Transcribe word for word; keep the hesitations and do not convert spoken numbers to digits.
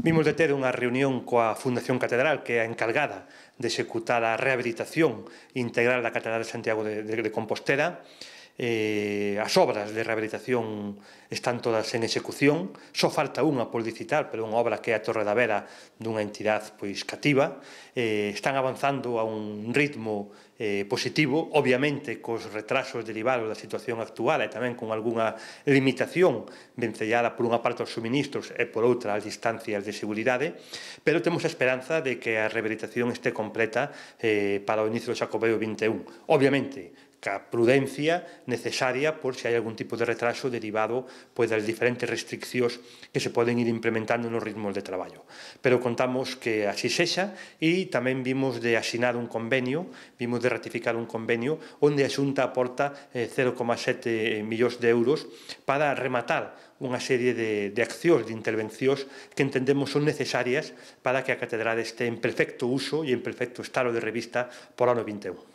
Vimos de ter unha reunión coa Fundación Catedral, que é a encargada de executar a rehabilitación integral da Catedral de Santiago de, de, de Compostela. Eh, as obras de rehabilitación están todas en execución, só falta unha por licitar, pero unha obra que é a Torre da Vera dunha entidade pois cativa. Eh, están avanzando a un ritmo eh, positivo, obviamente cos retrasos derivados da situación actual e tamén con algunha limitación vencellada por unha parte aos suministros e por outra as distancias de seguridade, pero temos a esperanza de que a rehabilitación este completa eh, para o inicio do Xacobeo vinte e un. Obviamente, ca prudencia necesaria por se hai algún tipo de retraso derivado pois, das diferentes restriccións que se poden ir implementando nos ritmos de traballo. Pero contamos que así sexa e tamén vimos de asinar un convenio, vimos de ratificar un convenio onde a Xunta aporta eh, cero coma sete millóns de euros para rematar unha serie de, de accións, de intervencións que entendemos son necesarias para que a Catedral este en perfecto uso e en perfecto estado de revista por ano vinte e un.